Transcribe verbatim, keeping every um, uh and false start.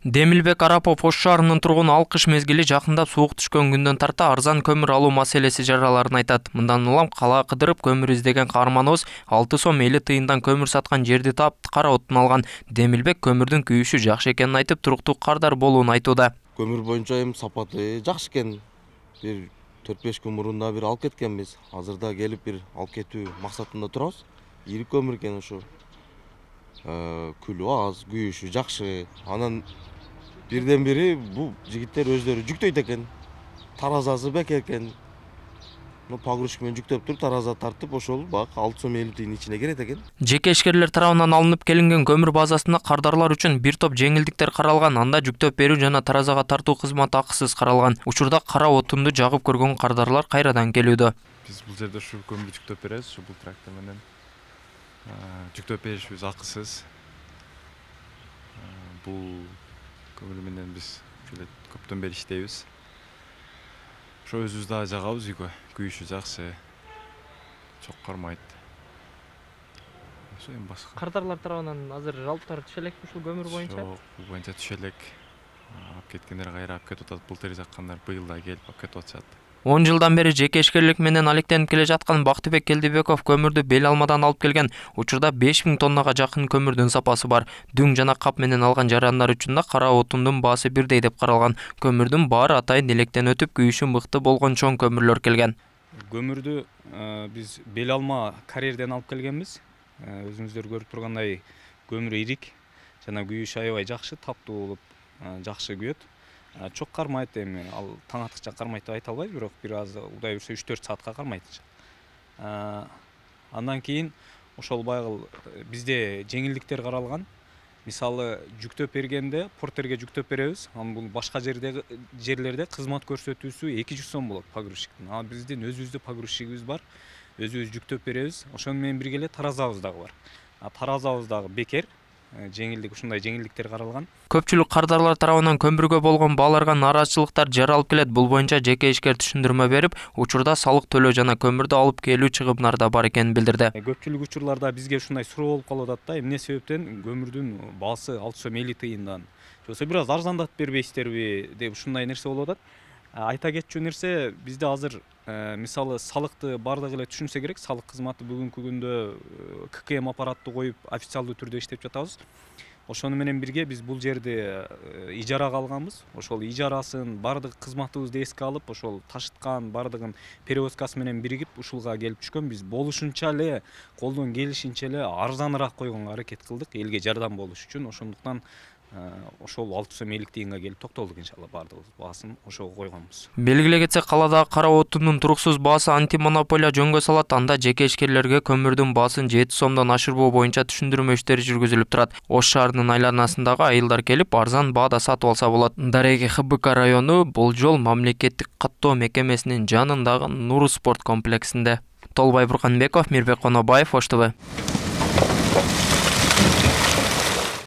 Демилбек Арапов Ош шаарынын тургуну ал кыш мезгили жакындап суук түшкөн күндөн тарта арзан көмүр алуу маселеси жараларын айтат. Мындан улам кала кыдырып көмүр издеген каарманыбыз алты сом элүү тыйындан көмүр саткан жерди таап кара отун алган. Демилбек көмүрдүн күйүүсү жакшы экенин айтып, туруктуу кардар болуун айтууда. Көмүр боюнча эми сапаты жакшы экен. Бир төрт беш күн мурун да бир алып кеткенбиз. Азырда келип бир алып кетүү максатында турабыз. Ири көмүр экен ошо. Күлү аз, күйүүсү жакшы. Анан бирден бири бул жигиттер өздөрү жүктөйт экен. Таразасы бекер экен. Ну погрузчик менен жүктөп туруп, тараза тартып, ошол бак алты сом элүү тыйын ичине кирет экен. Жеке ишкерлер тарабынан алынып келинген көмүр базасында кардарлар үчүн бир топ жеңилдиктер каралган. Анда жүктөп берүү жана таразага тартуу кызматы акысыз каралган. Учурда кара отунду жагып көргөн кардарлар кайрадан келүүдө. Биз бул жерде ушу көмүрдү жүктөп беребиз, ушу бул трактор менен. Жүктөп беришибиз акысыз. Бул көмүр менен биз ушул көптөн бери иштейбиз. Ошо өзүбүз да жагабыз үйгө. Күйүүсү жакшы. Чок кармайт. Ошо эми башка. Кардарлар тарабынан азыр жалптар түшө элекпи ушул көмүр боюнча? Жок, бул боюнча түшө элек. Алып кеткендер кайра алып кетип атат. Былтыр жаккандар быйыл да келип алып кетип атышат. он жылдан бери жеке ишкерлик менен алектенип келе жаткан Бактыбек Келдибеков көмүрдү бел алмадан алып келген. Учурда беш миң тоннага жакын көмүрдүн запасы бар. Дүң жана кап менен алган жарандар үчүн да кара отундун баасы бирдей деп каралган. Көмүрдүн баары атайын электен өтүп, күйүүсү мыкты болгон чоң көмүрлөр келген. Көмүрдү биз бел алма карьерден алып келгенбиз. Өзүңүздөр көрүп тургандай көмүрү ирик жана күйүүсү аябай жакшы, таптуу болуп, жакшы күйөт. Чок кармайт, эми ал таң атыкча кармайт деп айта албайм, бирок бир аз удай жүрсө үч төрт саатка кармайт. Андан кийин ошол байгыл бизде жеңилдиктер каралган. Мисалы, жүктөп бергенде портерге жүктөп беребиз. Анан бул башка жердеги жерлерде кызмат көрсөтүүсү эки жүз сом болот погрузчиктин. А биздин өзүбүздүн погрузчигибиз бар. Өзүбүз жүктөп беребиз. Ошону менен бирге эле таразабыз дагы бар. А таразабыз дагы бекер. Жеңилдик, ушундай жеңилдиктер каралган. Көпчүлүк кардарлар тарабынан көмүргө болгон бааларга нааразычылыктар жаралып келет. Бул боюнча жеке ишкер түшүндүрмө берип, учурда салык төлөө жана көмүрдү алып келүү чыгымдары да бар экенин билдирди. Көпчүлүк учурларда бизге ушундай суроо болуп калып атат да, эмне себептен көмүрдүн баасы алты сом элүү тыйындан. Жоксо бир аз арзандатып бербейсиздерби деп ушундай нерсе болуп атат. Айта кетчү нерсе, бизде азыр мисалы салыкты бардыгы эле түшүнсө керек. Салык кызматы бүгүнкү күндө ка ка эм аппаратты коюп официалдуу түрдө иштеп жатабыз. Ошону менен бирге биз бул жерди ижарага алганбыз. Ошол ижарасын бардык кызматыбызды эске алып, ошол ташыткан бардыгын перевозкасы менен биригип ушулга келип түшкөн. Биз болушунча эле, колдон келишинче эле арзаныраак койгонго аракет кылдык, элге жардам болуш үчүн. Ошондуктан ошол алты сом элүү тыйынга келип токтолдук иншалла, бардыгыбыз баасын ошого койгонбуз. Белгилей кетсек, каладагы кара отундун туруксуз баасы антимонополия жөнгө салат. Анда жеке ишкерлерге көмүрдүн баасын жети сомдон ашырбоо боюнча түшүндүрмө иштери жүргүзүлүп турат. Ош шаарынын айланасындагы айылдар келип арзан баада сатып алса болот. Дареги Х Б К району бул жол мамлекеттик каттоо мекемесинин жанындагы Нур спорт комплексинде. Толбай Бурканбеков, Мирбек Конобаев, Ош Т В.